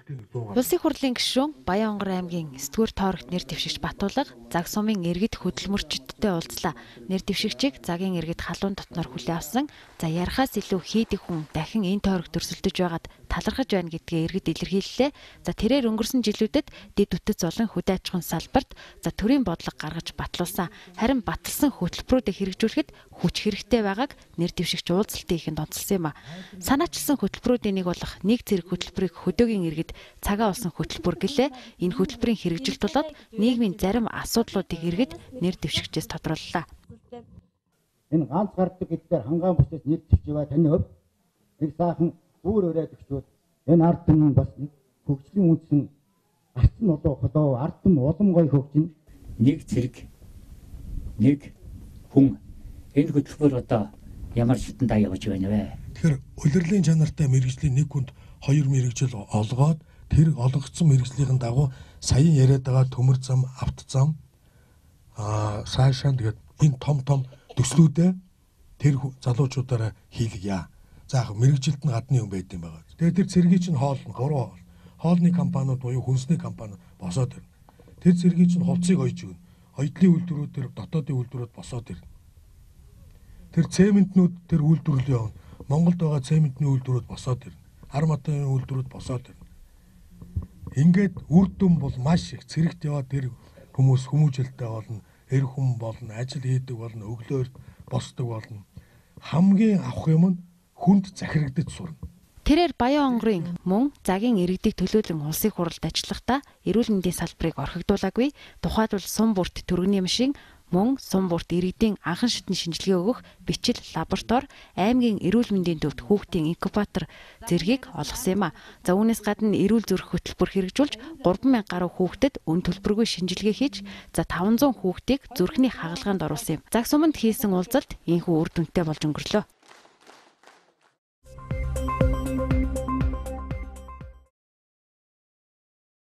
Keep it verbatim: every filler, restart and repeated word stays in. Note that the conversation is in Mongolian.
Улсын хурлын гишүүн Баянгор аймгийн Сэтгүүр тоорогт нэр дэвшигч Батуулга заг сумын иргэд хөдөлмөрчдтэй уулзлаа. Нэр дэвшигчийг загийн иргэд халуун дотноор хүлээн авсан. За ярахаас илүү хийдэг хүн дахин энэ тоорогт өрсөлдөж байгаад талархаж байна гэдгээ иргэд илэрхийллээ. За тэрээр өнгөрсөн жилүүдэд дэд үтэц болон хөдөө аж ахуйн салбарт за төрийн бодлого гаргаж батлуулсан. Харин баталсан хөтөлбөрүүдийг хэрэгжүүлэхэд хүч хэрэгтэй байгааг нэр дэвшигч уулзалтын ихэнд онцлсан юм а. Санаачилсан хөтөлбөрүүдийн нэг болох нэг зэрэг хөтөлбөрийг хөдөөгийн иргэд цагаа олсон хөтөлбөр гэлээ. Энэ хөтөлбөрийн хэрэгжилт болоод нийгмийн зарим асуудлуудыг иргэд нэр дэвшигчээс тодрууллаа. Энэ ганц гардаг гэдгээр хангаан бүсээс нэр дэвшивэ таны хувьд нэг саахан бүр өрөөд өгчүүд энэ ард түмэн бас нэг хөгжлийн үндсэн арт нь одоо холоо ард түм улам гоё хөгжин нэг зэрэг нэг хүн энэ хөтөлбөр одоо ямар шатандаа явж байна вэ? Тэгэхээр улирлын чанартай мэрэгжлийн нэг хүнд хоёр мэрэгжил олгоод тэр олгогдсон мэрэгжлийн дагуу саяхан яриад байгаа төмөр зам, авто зам аа цаашаа тэгээд энэ том том төслүүдээ тэр залуучуудаараа хийлгэе. За яг мэрэгжилт нь гадны юм байд юм байгаа. Тэгээд тэр цэргийн чинь хоол нь гурван хоол. Хоолны компаниуд буюу хүнсний компани босоод ирнэ. Тэр цэргийн чинь хувцсыг ойж өгнө. Ойдлын үйлдвэрүүд тэр дотоодын үйлдвэрүүд босоод ирнэ. Тэр цементнүүд тэр үйлдвэрлэл явна. Монголд байгаа цементний үйлдвэрүүд босоод ирнэ. Ар матын үйлдвэрүүд босоод ирнэ. Ингээд үр дүн бол маш их цэрэгт яваад тэр хүмүүс хүмүүжлэлтэй болно, эр хүн болно, ажил хийдэг болно, өглөөр босдог болно. Хамгийн авах юм нь хүнд захирагдаж сурна. Тэрээр Баянгорын мөн загийн иргэдийг төлөөлөн улсын хурлд ажиллахдаа эрүүл мэндийн салбарыг орхигдуулаагүй. Тухайлбал сум бүрт төрөгний машин мөн сум бүрт иргэдийн анхан шатны шинжилгээ өгөх бичил лаборатори, аймгийн эрүүл мэндийн төвд хүүхдийн инкубатор зэргийг олгосон юм а. За үүнээс гадна эрүүл зүрх хөтөлбөр хэрэгжүүлж гурван мянга гаруй хүүхдэд өн төлбөргүй шинжилгээ хийж за таван зуун хүүхдийг зүрхний хагалгаанд оруулсан юм. Заг суманд хийсэн уулзалт энэхүү үр дүнтэй болж өнгөрлөө.